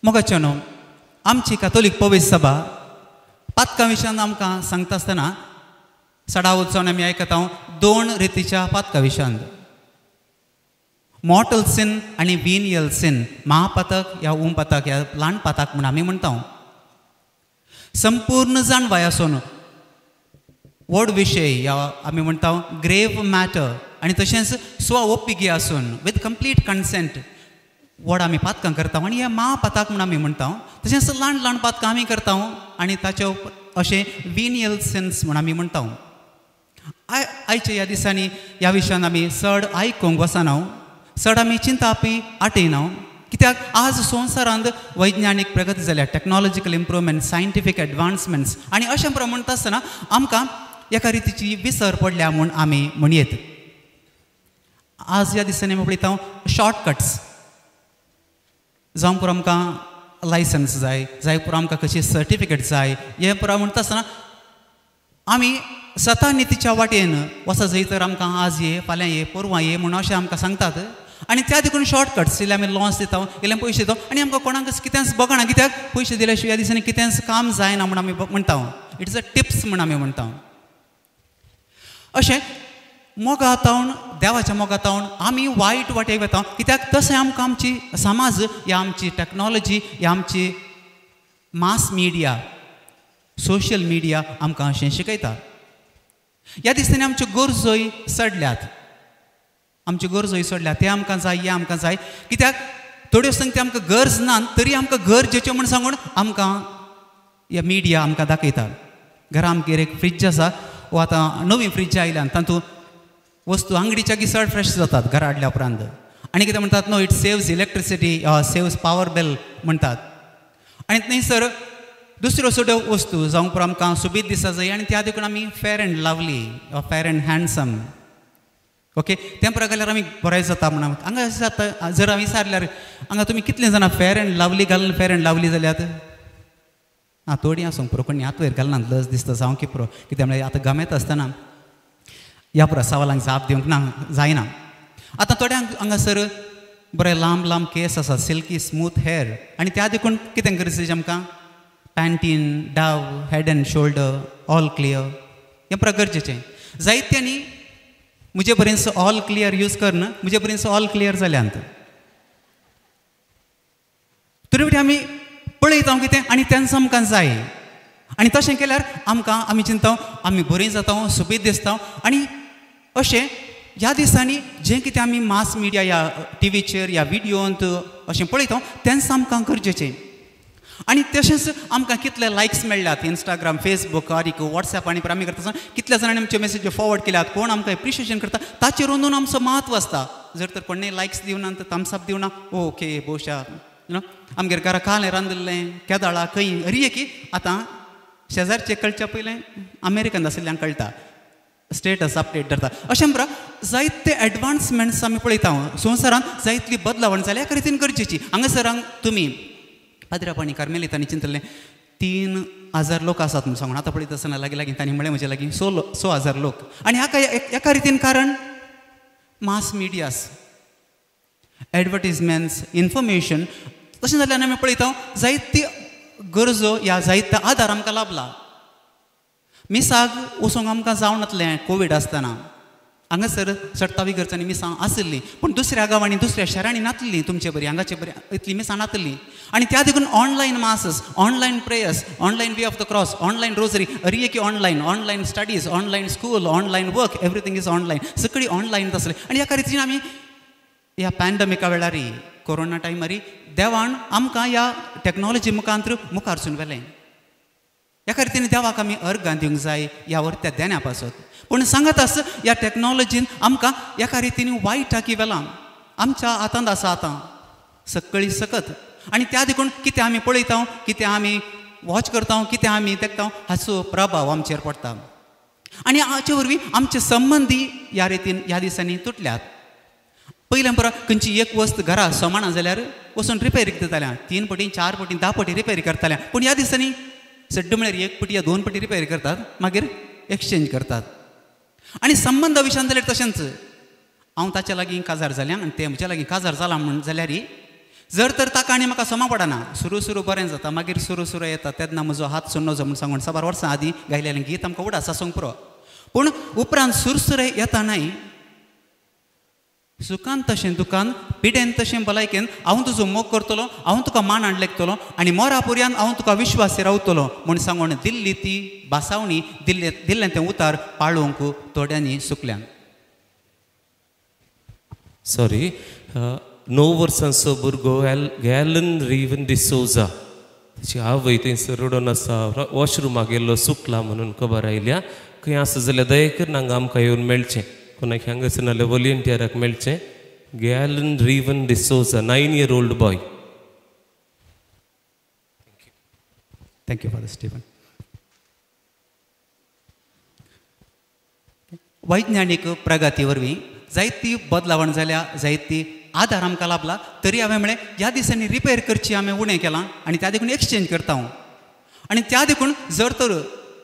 मोगाचें न्हू आमची कातोलीक पवित्र सभा पातकां विशयान आमकां सांगता आसतना सडावत जावन आमी आयकता दोन रितीच्या पातकां विशयान, मॉर्टल सिन आनी विनियल सिन, महापातक या उमपातक या ल्हान पातक म्हूण आमी म्हणटा. संपूर्ण जाणवाय आसून व्हड विशय या आमी म्हणटा ग्रेव मॅटर आनी तशेंच स्व ओपिगी आसून विथ कंप्लीट कन्सेंट व्हड आमी पातकां करता आनी हे महापातक म्हूण आमी म्हणटा. तशेंच ल्हान ल्हान पातकां आमी करता आनी ताचे अशें विनियल सिन्स म्हूण आमी म्हणटा. आयच्या ह्या दिसांनी ह्या विशयान आमी चड आयकूंक वचना, चड आमी चिंतापी आटयना, कित्याक आज संवसारांत वैज्ञानीक प्रगती जाल्या, टॅक्नोलॉजिकल इम्प्रूवमेंट, सायंटिफीक एडवान्समेंट्स आनी अशें प्रमाण म्हणटा आसतना आमकां एका रितीची विसर पडल्या म्हूण आमी म्हणयेत. आज ह्या दिसांनी आमी पळयता शॉर्टकट्स, जावं पुरो आमकां लायसन्स जाय, जाय पुरो आमकां कशी सर्टिफिकेट जाय, हें पुरो म्हणटा आसतना आमी सता नितीच्या वाटेन वचत जंय तर आमकां आज ये, फाल्यां ये, परवां ये म्हणून अशें आमकां सांगतात आनी त्या देखून शॉर्टकट्स, इल्ले आमी लॉन्स दिता, इल्ले पयशे दिता आनी आमकां कोणाकच कितेंच बगना, कित्याक पयशे दिल्या शिवाय ह्या दिसांनी कितेंच काम जायना म्हूण आमी म्हणटा. It's a tips म्हूण आमी म्हणटा. अशें मोगा तावन, देवाच्या मोगा तावन आमी वायट वाटेक वता, कित्याक तशें आमकां आमची समाज या आमची टॅक्नोलॉजी या आमची मास मिडिया, सोशल मिडिया आमकां अशें शिकयता. ह्या दिसांनी आमच्यो गरजोय चडल्यात, आमच्यो गरजोय चडल्यात, तें आमकां जाय, हें आमकां जाय, कित्याक थोड्यो संगती आमकां गरज ना तरी आमकां गरजेच्यो म्हूण सांगून आमकां ह्या मिडिया आमकां दाखयता. घरा आमगेर एक फ्रिज आसा, वो आतां नवी फ्रिज आयल्यान तातूंत वस्तू आंगडीच्या की चड फ्रेश जातात घरा हाडल्या उपरांत आनी कितें म्हणटात, no it saves electricity, saves power bill म्हणटात. आनी थंयसर दुसऱ्यो सगळ्यो वस्तू जावं पुरो आमकां सोबीत दिसा जाय आनी त्या देखून आमी fair and lovely, fair and handsome, okay, तें पुरो घाल्यार आमी बरें जाता म्हणून हांगा जाता. जर हांवें विचारल्यार हांगा तुमी कितले जाणां फेर एंड लवली घालून फेर एंड लवली जाल्यात? आं, थोडीं आसूंक पुरो, कोणी हात वयर घालना, लज दिसता जावं की पुरो, कित्याक म्हळ्यार आतां गमेत आसतना ह्या पुरो सवालांक जाप दिवंक ना जायना. आतां थोड्यांक हांगासर बरें लांब लांब केस आसा, सिल्की स्मूथ हेर आनी त्या देखून कितें गरजेचें आमकां Pantene, Dove, Head and Shoulder, all clear हें पुरो गरजेचें. जायत्यांनी म्हजे बरेंच ऑल क्लियर यूज करन म्हजे बरेंच ऑल क्लियर जाल्यांत. तरी फावटी आमी पळयता कितें आनी तेंच आमकां जाय आनी तशें केल्यार आमकां आमी चिंता आमी बरीं जाता, सोबीत दिसता. आनी अशें ह्या दिसांनी जें कितें आमी मास मिडिया ह्या टिवीचेर ह्या विडियोंत अशें पळयता तेंच आमकां गरजेचें. आनी तशेंच आमकां कितले लायक्स मेळ्ळ्यात इंस्टाग्राम, फेसबूक आनी वॉट्सएप आनी आमी करता आसतना कितल्या जाणांनी आमच्यो मेसेजी फॉरवर्ड केल्यात, कोण आमकां एप्रिशिएशन करता ताचेर अंदून आमचो म्हत्व आसता. जर तर कोणें लायक्स दिवना तर थम्स अप दिवना, ओके बोशा you know आमगेर घरा कालें रांदिल्लें केदाळा खंय अरी की आतां शेजारचे कळच्या पयलें अमेरिकन आशिल्ल्यांक कळटा, स्टेटस अपडेट धरता. अशें म्हळ्यार जायते एडवान्समेंट्स आमी पळयता संवसारांत, जायतली बदलावण जाल्या एका रितीन गरजेची. हांगासर तुमी पाद्रापाणी कार्मेलितांनी चिंतलें 3000 लोक आसात म्हणून सांगून, आतां पळयता आसतना लागीं लागीं तांणी म्हळें म्हजे लागीं 6,000 लोक. आनी हाका एका रितीन कारण मास मिडियास, एडवर्टीजमेंट्स, इन्फॉर्मेशन. तशें जाल्यार आमी पळयता जायती गरजो ह्या जायतो आदार आमकां लाभला. मिसाक वचूंक आमकां जावनातलें कोवीड आसतना, हांगासर चडतावी घरच्यांनी मिसां आशिल्लीं पूण दुसऱ्या गांवांनी दुसऱ्या शहरांनी नातली तुमचे बरी हांगाचे बरी इतली मिसां नातली. आनी त्या देखून online masses, online prayers, online way of the cross, online rosary, अरी की online, online studies, online school, online work, everything is online, सगळी ऑनलायन आसलें. आनी ह्या रितीन आमी ह्या पॅन्डमिका वेळार, कोरोना टायमार देवान आमकां ह्या टॅक्नोलॉजी मुखांत मुखार सून व्हेलें. ह्या रितीन देवाक आमी अर्गां दिवंक जाय ह्या वरत्या देण्या पासत. पूण सांगत आस ह्या टॅक्नोलॉजीन आमकां एका रितीन वायटाकी व्हेलां, आमच्या हातांत आसा आतां सगळी सकत. आनी त्या देखून कितें आमी पळयता, कितें आमी वॉच करता, कितें आमी देखता हाचो प्रभाव आमचेर पडटा. आनी हाचे वरवीं आमचे संबंदी ह्या रितीन ह्या दिसांनी तुटल्यात. पयलें परत खंयची एक वस्त घरा सोमाना जाल्यार वचून रिपेरीक दिताल्या, 3 पटी 4 पटी 10 पटी रिपेरी करताल्या. पूण ह्या दिसांनी सड्ड म्हळ्यार 1 पटी या 2 पटी रिपेरी करतात, मागीर एक्सचेंज करतात. आनी संबंदा विशयान जाल्यार तशेंच, हांव ताच्या लागीं काजार जाल्यां आनी तें म्हज्या लागीं काजार जालां म्हूण जाल्यार जर तर ताका आनी म्हाका समा पडना, सुरू सुरू बरें जाता, मागीर सुरू सुरू येता तेन्ना म्हजो हात सोडनो म्हूण सांगून साबार वर्सां आदीं गायलेलें गीत आमकां उडास आसूंक पुरो. पूण उपरांत सुरसुरे येता न्हय, सुखान तशें दुखान, पिडेन तशें भलायकेन हांव तुजो मोग करतलो, हांव तुका मान हाड लेखतलो आनी मोरा पुर्यान हांव तुका विश्वासी रावतलो म्हूण सांगून दिल्ली ती भासावणी, दिल्ले दिल्लें तें उतार पाळोवंक थोड्यांनी सुकल्यान. सॉरी, 9 वर्सांचो भुरगो गॅलन रिवन डिसोजा, ताची आवय थंयसर रडोन आसा, वॉशरुमाक गेल्लो सुकला म्हणून खबर आयल्या. खंय आसा जाल्यार दया करून हांगा आमकां येवन मेळचें, कोणाक हांगासर नाल्यार वॉलंटियराक मेळचें. Galen Riven D'Souza, 9 year old boy. Thank you father Stephen. वैज्ञानीक प्रगती वरवीं जायती बदलावण जाल्या, जायती आदार आमकां लाभला, तरी हांवें म्हळें ह्या दिसांनी रिपेर करची हांवें उणें केलां आनी त्या देखून एक्सचेंज करता हांव. आनी त्या देखून जर तर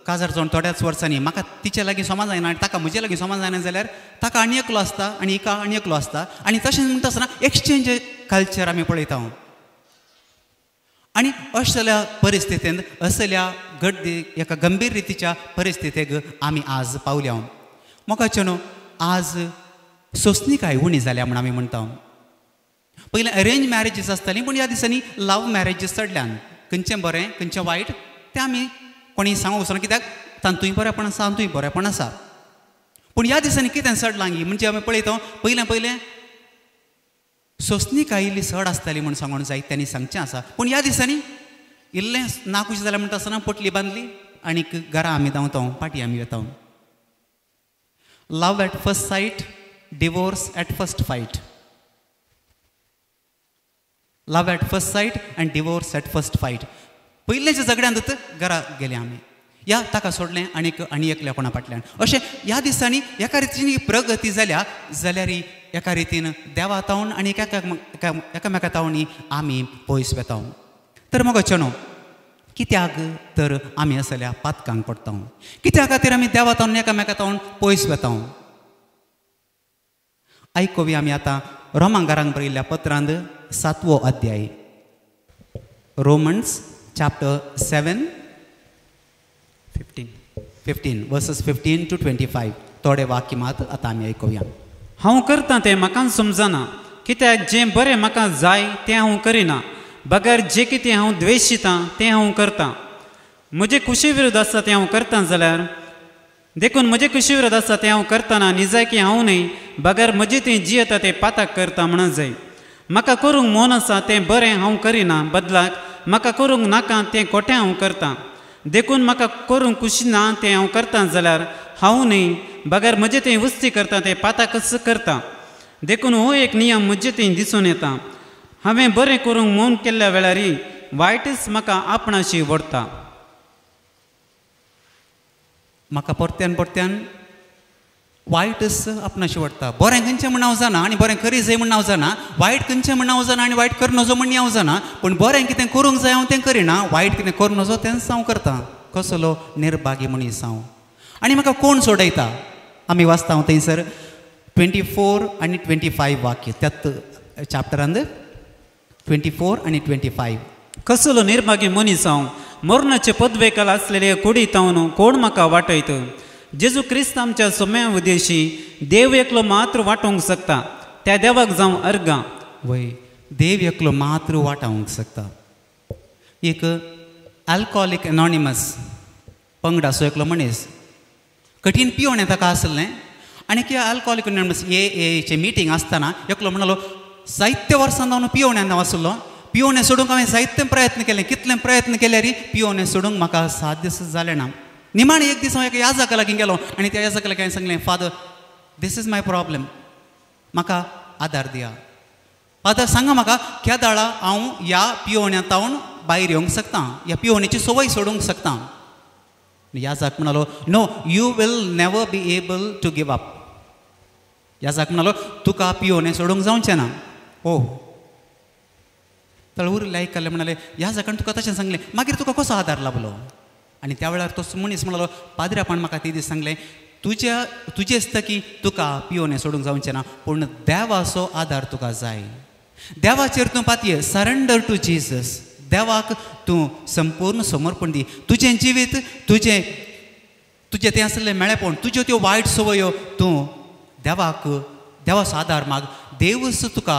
काजार जावन थोड्याच वर्सांनी म्हाका तिचे लागीं समा जायना आनी ताका म्हजे लागीं समा जायना जाल्यार ताका आनी एकलो आसता आनी हिका आनी एकलो आसता आनी तशें म्हणटा आसतना एक्सचेंज कल्चर आमी पळयता हांव. आनी असल्या परिस्थितींत, असल्या गड्डी एका गंभीर रितीच्या परिस्थितीक आमी आज पावल्या. मोगाचें न्हू, आज सोंसणीकाय उणी जाल्या म्हूण आमी म्हणटा. पयलीं अरेंज मॅरेजीस आसतालीं, पूण ह्या दिसांनी लव मॅरेजीस चडल्यान. खंयचें बरें खंयचें वायट तें आमी कोणी सांगूंक वचना, कित्याक तातूंय बरेंपण आसा तातूंय बरेंपण आसा. पूण ह्या दिसांनी कितें चडलां म्हणजे आमी पळयता, पयलें पयलें सोंसणीकाय इल्ली चड आसताली म्हूण सांगूंक जाय त्यांनी सांगचें आसा. पूण ह्या दिसांनी इल्लें नाखूश जालें म्हणटा आसतना पोटली बांदली आनी घरा आमी धांवता, पाटी आमी वता. Love at first sight, divorce at first fight. Love at first sight and divorce at first fight. पयल्याच्या झगड्यांत घरा गेले आमी, ह्या ताका सोडलें आनीक आनी एकल्या कोणा फाटल्यान. अशें ह्या दिसांनी एका रितीन प्रगती जाल्या जाल्यार एका रितीन देवा तावन आनी एकामेका तावणी आमी पयस वेता. तर मगो न्हू, कित्याक तर आमी असल्या पातकांक पडटा, कित्या खातीर आमी देवा तावन एकामेका तावन पयस वेता. आयकुया आमी आतां रोमांगारांक बरयल्ल्या पत्रांत 7वो अध्याय, Romans chapter 7 15 verses 15 to 25. थोडे वाक्य मात आतां आमी आयकुया. हांव करता तें म्हाका समजना, कित्याक जें बरें म्हाका जाय तें हांव करिना, बगर जें कितें हांव द्वेशितां तें हांव करतां. म्हजे कुशी विरुद्ध आसा तें हांव करतां जाल्यार देखून म्हजे कुशी विरुद्ध आसा तें हांव करतना निजायकी हांव न्हय, बगर म्हजें तें जियेता तें पाताक करता म्हणून जाय. म्हाका करूंक मन आसा तें बरें हांव करिना, बदलाक म्हाका करूंक नाका तें खोटें हांव करतां. देखून म्हाका करूंक खुशी ना तें हांव करतां जाल्यार हांव न्हय, बगर म्हजें तें उस्ती करता तें पाताकच करता. देखून हो एक नियम म्हजें तें दिसून येता, हांवें बरें करूंक मन केल्ल्या वेळार वायटच म्हाका आपणाशी व्हरता. म्हाका परत्यान परत्यान वायटच आपणाशी व्हरता. बरें खंयचें म्हण हांव जाणा आनी बरें करी जाय म्हण हांव जाणा, वायट खंयचें म्हण हांव जाणा आनी वायट करूं नजो म्हण हांव जाणा, पूण बरें कितें करूंक जाय हांव तें करिना, वायट कितें करूं नजो तेंच हांव करतां. कसलो निर्भागी मनीस हांव. आनी म्हाका कोण सोडयता? आमी वाचता हांव थंयसर 24 आनी 25 वाक्य, त्यात चॅप्टरांत 24 आनी 25. कसलो निर्भागी मनीस हांव, मरणाचे पदवेकाल आसलेले कुडीत हांव कोण म्हाका वाटयत? जेजू क्रिस्त आमच्या सोम्या उद्देशी देव एकलो मात्र वाटोवंक शकता, त्या देवाक जावं अर्गां. वय, देव एकलो मात्र वाटावंक शकता. एक अल्कोहोलीक एनॉनिमस पंगडाचो एकलो मनीस कठीण पिवणें ताका आसलें आनी की अल्कोहोलीक एनॉनिमस एचे मिटींग आसतना एकलो म्हणालो, जायते वर्सां हांव पिवण्यान हांव आसलो, पिवणें सोडूंक हांवें जायते प्रयत्न केले, कितले प्रयत्न केल्यार पिवणें सोडूंक म्हाका साध्य जालें ना. निमाणें एक दीस हांव एका याजका लागीं गेलो आनी त्या याजका लागीं हांवें सांगलें, father this is my problem, म्हाका आदार दिया. फादर सांगा म्हाका केदाळा हांव ह्या पिवण्या तावन भायर येवंक शकता, ह्या पिवण्याची संवय सोडूंक शकता. याजक म्हणालो, no, you will never be able to give up. याजक म्हणालो, तुका पिवणें सोडूंक जावचें ना. ओ तळूर लायक म्हणाले, याजकान तुका तशें सांगलें, मागीर तुका कसो आदार लाभलो? आनी त्या वेळार तो मनीस म्हणालो, पाद्र्यापान म्हाका ते दीस सांगलें, तुज्या तुजें आसता की तुका पिवणें सोडूंक जावचें ना, पूण देवाचो आदार तुका जाय. देवाचेर तूं पातये, सरेंडर टू जीसस. देवाक तूं संपूर्ण समर्पण दी. तुजें जिवीत, तुजें तुजें तें आसलें मेळेपण, तुज्यो त्यो वायट संवयो तूं देवाक, देवाचो आदार माग. देवूच तुका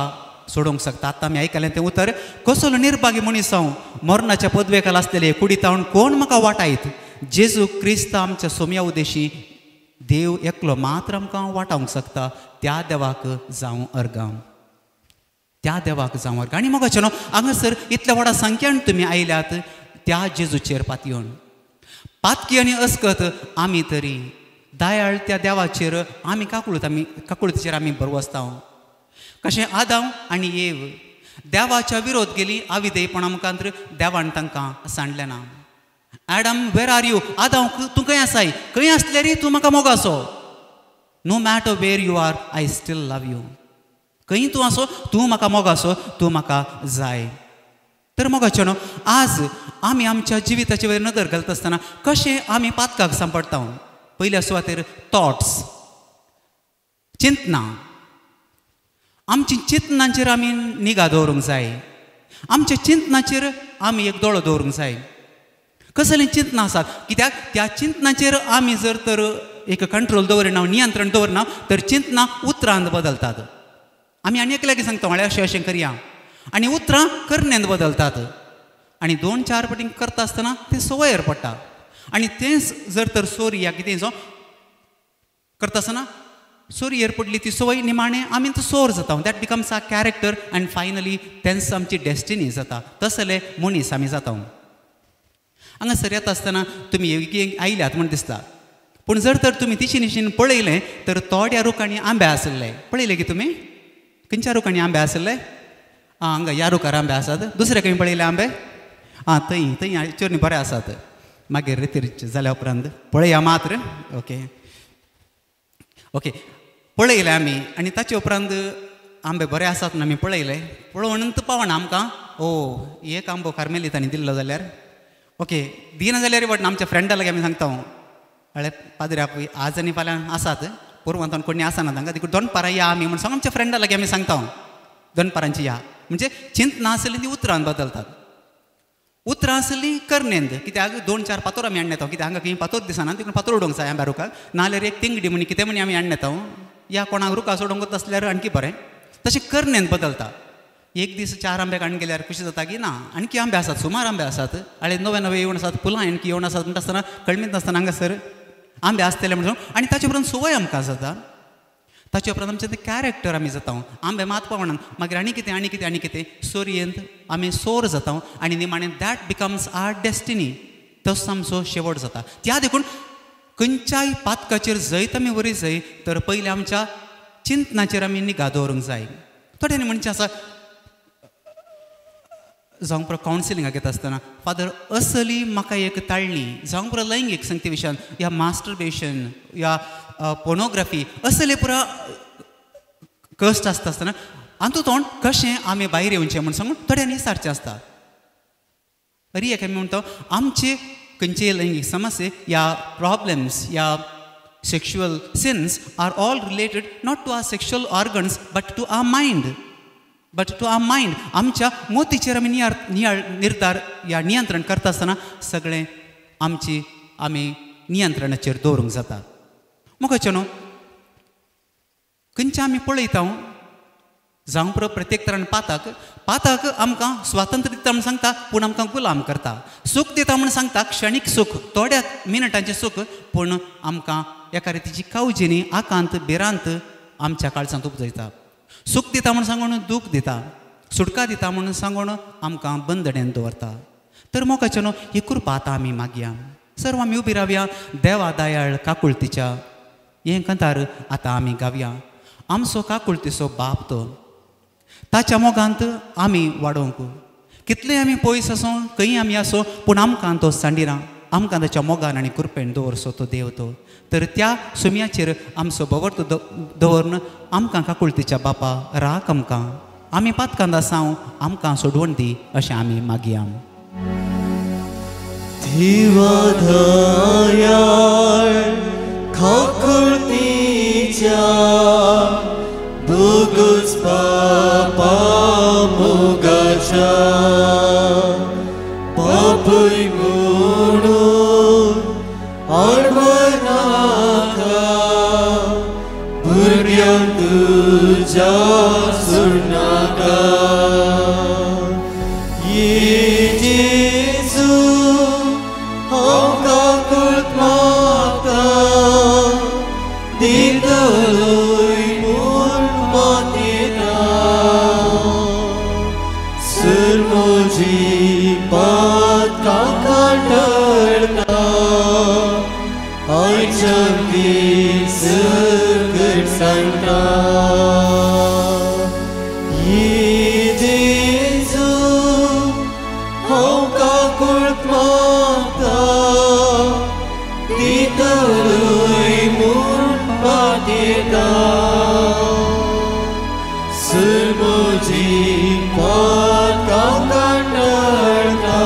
सोडोवंक शकता. आतां आमी आयकलें तें उतर, कसलो निर्भागी मनीस हांव, मरणाच्या पदवेकाल आसलेले कुडीत हांव कोण म्हाका वाटायत. जेजू क्रिस्त आमच्या सोम्या उदेशी देव एकलो मात्र आमकां वाटावंक शकता. त्या देवाक जावं अर्गां, त्या देवाक जावं अर्गां. आनी मोगाचें न्हू हांगासर इतल्या व्हडा संख्यान तुमी आयल्यात त्या जेजूचेर पातयेवन. पातकी आनी अस्कत आमी तरी दयाळ त्या देवाचेर आमी काकूळत, आमी काकूळतीचेर आमी भरवसता. कशें आदांव आनी एव देवाच्या विरोध गेली आविदेयपणा मुखांतर देवान तांकां सांडलें ना. Adam where are you, आदांव तूं खंय आसाय, खंय आसले रे तूं म्हाका मोगासो. No matter where you are I still love you. खंय तूं आसो तूं म्हाका मोगासो, तूं म्हाका जाय. तर मोगाचें न्हू आज आमी आमच्या जिविताचे वयर नदर घालता आसतना कशें आमी पातकाक सांपडटा. पयल्या सुवातेर थॉट्स, चिंतनां. आमची चिंतनांचेर आमी निगा दवरूंक जाय. आमच्या चिंतनाचेर आमी एक दोळो दवरूंक जाय. कसलीं चिंतनां आसात, कित्याक त्या चिंतनाचेर आमी जर तर एक कंट्रोल दवरिना, नियंत्रण दवरिना तर चिंतनां उतरांत बदलतात. आमी आनी एकल्याक सांगता म्हळ्यार अशें अशें करया आनी उतरां करण्यांत बदलतात. आनी दोन चार पटी करता आसतना तें संवयर पडटा. आनी तेंच जर तर सोरी या कितें जावं करता आसतना सोरयेर पडली ती संवय निमाणें आमी तो सोर जाता. That becomes a character and finally तेंच आमची डेस्टिनी जाता. तसले मनीस आमी जाता. हांगासर येता आसतना तुमी आयल्यात म्हूण दिसता, पूण जर तर तुमी तिशी निशीन पळयलें तर थोड्या रुखांनी आंबे आसले. पळयले की तुमी खंयच्या रुखांनी आंबे आसले? आं हांगा ह्या रुखार आंबे आसात. दुसरे खंय पळयले आंबे? आं थंय थंय चेरणी बरे आसात. मागीर रितीर जाल्या उपरांत पळया मात्र. ओके ओके पळयले आमी आनी ताचे उपरांत आंबे बरे आसात म्हणून आमी पळयले. पळोवन पावना आमकां, ओ एक आंबो कार्मेलितांनी दिल्लो जाल्यार ओके, दिना जाल्यार वाटना. आमच्या फ्रेंडा लागीं आमी सांगता हळे पाद्रे आपय आज आनी फाल्यां आसात, पोरवांत कोणी आसना तांकां, देखून दोनपारां या आमी म्हूण सांग आमच्या फ्रेंडा लागीं आमी सांगता दोनपारांची या. म्हणजे चिंतना आसली ती उतरान बदलतात, उतरां आसली करनेंत. कित्याक दोन चार पातोर आमी हाडून येता, कित्याक हांगा खंय पातोर दिसना देखून पातोर उडोवंक जाय आंब्या रुखाक, नाजाल्यार एक तिंगडी म्हणी कितें म्हणी आमी हाडून येता. या कोणाक रुखा सोडोवंक आसल्यार आणखी बरें. तशें करनेंत बदलता. एक दीस चार आंबे काडून गेल्यार कशें जाता की ना आणखी आंबे आसात, सुमार आंबे आसात, आनी नवे नवे येवन आसात, फुलां आणखी येवन आसात म्हणटा आसतना कळमीत नासतना हांगासर आंबे आसतले म्हणून. आनी ताचे उपरांत संवय आमकां जाता. ताचे उपरांत आमचें तें कॅरेक्टर आमी जाता. आंबे मात पावणान मागीर आनी कितें आनी कितें आनी कितें सोरयेंत आमी सोर जाता आनी निमाणें that becomes our destiny. तसो आमचो शेवट जाता. त्या देखून खंयच्याय पातकाचेर जैत आमी वरी जाय तर पयलीं आमच्या चिंतनाचेर आमी निगा दवरूंक जाय. थोड्यांनी म्हणचें आसा जावंक पुरो कावन्सिलिंगाक येता आसतना, फादर असली म्हाका एक ताळणी, जावंक पुरो लैंगीक संगती विशयान या मास्टरबेशन या पोर्नोग्राफी असले पुरा कश्ट आसता आसतना हातूंत कशें आमी भायर येवचें म्हूण सांगून थोड्यांनी सारचें आसता. अरी एक आमी म्हणटा आमचे खंयचे लैंगीक समस्ये या प्रॉब्लम्स या sexual sins are all related not to our sexual organs but to our mind. But to our mind. आमच्या मोतीचेर आमी नियाळ निर्धार या नियंत्रण करता आसतना सगळें आमची आमी नियंत्रणाचेर दवरूंक जाता. मोगाचें न्हू खंयचें आमी पळयता जावं पुरो प्रत्येक तरान पाताक पाताक आमकां स्वातंत्र्य दिता म्हूण सांगता, पूण आमकां गुलाम करता. सूख दिता म्हूण सांगता, क्षणीक सूख, थोड्या मिनटांचें सूख, पूण आमकां एका रितीची कावजेनी आकांत भिरांत आमच्या काळजांत उपजयता. सूख दिता म्हूण सांगून दूख दिता, सुटका दिता म्हणून सांगून आमकां बंदणेन दवरता. तर मोगाचें न्हू ही कृपा आतां आमी मागया. सर्व आमी उबी रावया देवा दयाळ काकुळतीच्या हें कांतार आतां आमी गावया. आमचो काकुळतीचो बाप तो, ताच्या मोगांत आमी वाडोवंक. कितले आमी पयस आसूं खंय आमी आसूं पूण आमकां तो सांडिना, आमकां ताच्या मोगान आनी कृपेन दवरसो तो देव तो. तर त्या सुम्याचेर आमचो भवर्त दवरून आमकां काकुळतीच्या बापा राख आमकां, आमी पातकांत आसाव आमकां सोडवण दी अशें आमी मागया. देवा दयाळ काकुळतीच्या भोगोस बापा मोगाच्या बापूय म्हणून आडवनाका भुरग्यांक तुज्या सोडनाका. ये जेजू हांव काकूट मागता दितलोय म्हूण पातयेता सर म्हजी पातकां कांटळटा आयच्यान ती सकट सांगता. ये जेजू हांव काकूट मागता दितलोय म्हूण पातयेता सर म्हजी पातकां कांटळटा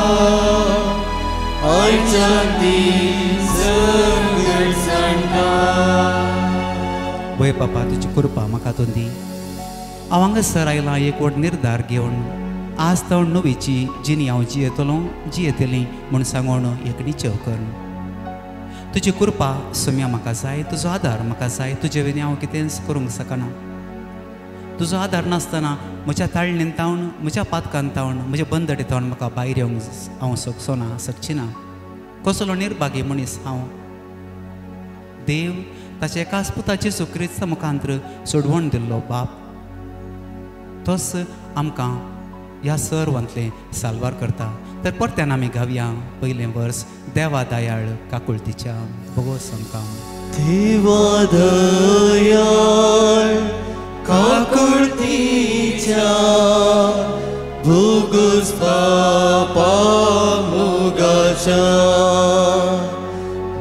आयच्यान ती सकट सांगता. वय बापा तुजी कृपा म्हाका तूं दी. हांव हांगासर आयलां एक व्हड निर्धार घेवन आज तो नवीची जिणी हांव जियेतलो जियेतली म्हूण सांगून एक निश्चय कर. तुजी कृपा सोम्या म्हाका जाय, तुजो आदार म्हाका जाय. तुजे विणी हांव कितेंच करूंक शकना. तुजो आदार नासतना म्हज्या ताळणेन तावन म्हज्या पातकान तावन म्हज्या बंदडे तावन म्हाका भायर येवंक हांव शकचो ना, शकची ना. कसलो निर्भागी मनीस हांव. देव ताच्या एकाच पुताची सुक्रिस्त मुखांत्र सोडवण दिल्लो बाप तोच आमकां ह्या सर्वांतलें साल्वार करता. तर परत्यान आमी गावया पयलें वर्स देवा दयाळ काकुळतीच्या भोगोस आमकां. देवा दयाळ काकुळतीच्या भोगोस पापा मोगाच्या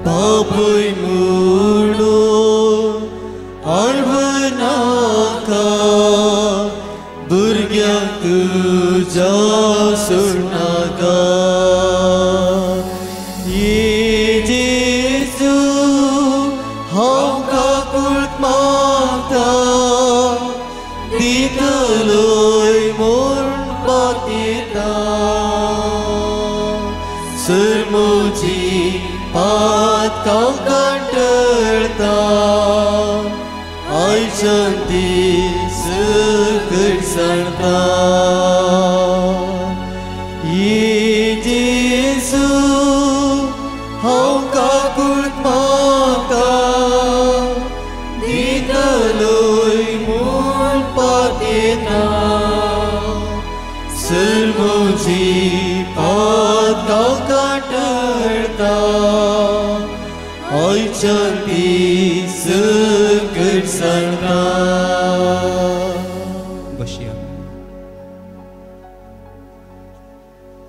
बापूय म्हणून आडवनाका भुरग्यांक तुज्या सोडनाका. ये जेजू हांव काकूट मागता दितलोय म्हूण पातयेता सर म्हजी पातकां कांटळटा आयच्यान ती सकट सांगता. ये जेजू हांव काकूट मागता दितलोय म्हूण पातयेता सर म्हजी पातकां कांटळटा आयच्यान ती